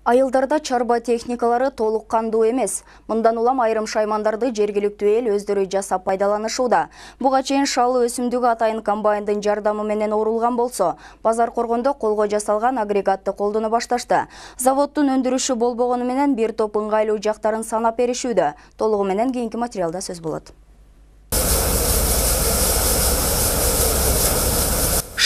Айылдарда чарба техникалары толук кандуу эмес. Мындан улам айрым шаймандарды жергиликтүү эл өздөрү жасап пайдаланышууда. Буга чейин шалы өсүмдүгү атайын комбайндын жардамы менен орулган болсо, базар коргондо колго жасалган агрегатты колдоно башташты. Заводдун өндүрүшү болбогону менен бир топ ыңгайлуу жактарын санап беришүүдө. Толугу менен кийинки материалда сөз болот.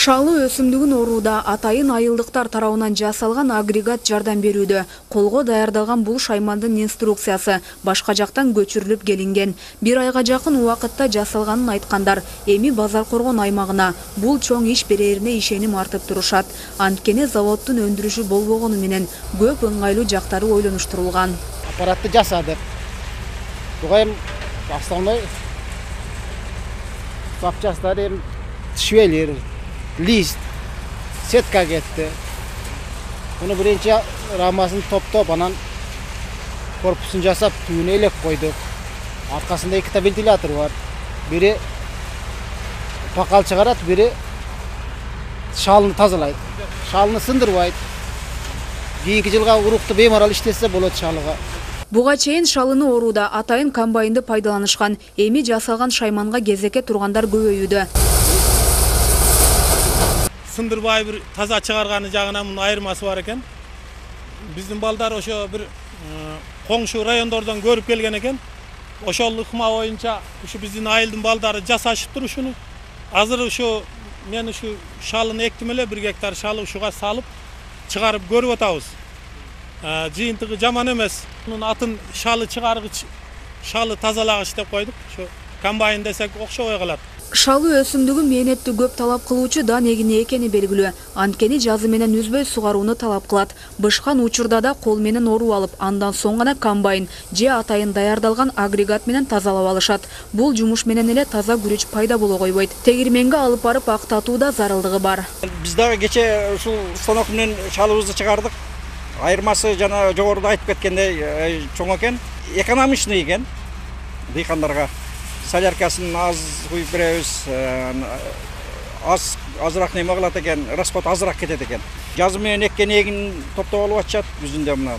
Шалы өсүмдүгүн орууда атайын айылдыктар тарабынан жасалган агрегат жардам берүүдө. Колго даярдалган бул шаймандын инструкциясы башка жактан көчүрүлүп келинген. Бир айга жакын убакытта жасалганын айткандар. Эми базар коргон аймагына бул чоң иш берерине ишеним артып турушат. Анткени заводдун өндүрүшү болбогону менен көп ыңгайлуу жактары ойлонуштурулган. Аппаратты жасадык. Буга эми основной запчасттар швелер, лист, сетка кетти. Буну биринчи рамасын топтоп, анан корпусун жасап, түбүнө элек койдук. Аркасында эки вентилятор бар. Бири pakal чыгарат, бири шалыны тазалайт. Шалыны сындырбайт. Кийинки жылга урукту беймарал иштесе болот шалыга. Буга чейин шалыны орууда атайын комбайнды пайдаланышкан. Эми жасалган шайманга кезекке тургандар көбөйүүдө. Сындырбай бир таза чыгарганы жагынан мунун айырмасы бар экен. Биздин балдар ошо бир коңшу райондордон көрүп келген экен. Ошол ыкма боюнча ушу биздин айылдын балдары жасашыптыр ушуну. Азыр ушу мен ушу шалыны эктим эле, 1 гектар шалы ушуга салып чыгарып көрүп атабыз. Жыйынтыгы жаман эмес. Мунун атын шалы чыгаргыч, шалы тазалагыч деп койдук. Ошо комбайн десек окшобой калат. Шалы өсүмдүгү мээнетти көп талап кылуучу дан эгини экени белгилүү. Анткени жазы менен үзбөй сугарууну талап кылат. Бышкан учурда да кол менен оруу алып, андан соң гана комбайн же атайын даярдалган агрегат менен тазалап алышат. Бул жумуш менен эле таза күрүч пайда боло койбойт. Тегирменге алып барып актатууда зарылдыгы бар. Биз дагы кече ушул станок менен шалыбызды чыгардык. Айырмасы жана жогоруда айтып кеткендей чоң экен. Экономичный экен дыйкандарга. Соляркасын аз куюп беребиз, азыраак неме кылат экен, расход азыраак кетет экен. Жазы менен эккен эгин топтоп алып атышат жүзүндө мына.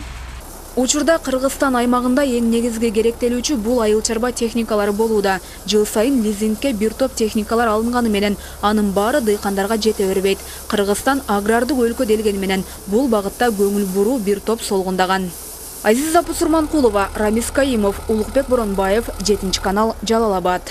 Учурда Кыргызстан аймагында эң негизги керектелүүчү бул айыл чарба техникалары болууда. Жыл сайын лизингке бир топ техникалар алынганы менен анын баары дыйкандарга жете бербейт. Кыргызстан агрардык өлкө делгени менен бул багытта көңүл буруу бир топ солгундаган. Азиза Пусурманкулова, Рамис Каимов, Улукбек Боронбаев, 7 канал, Жалал Абад.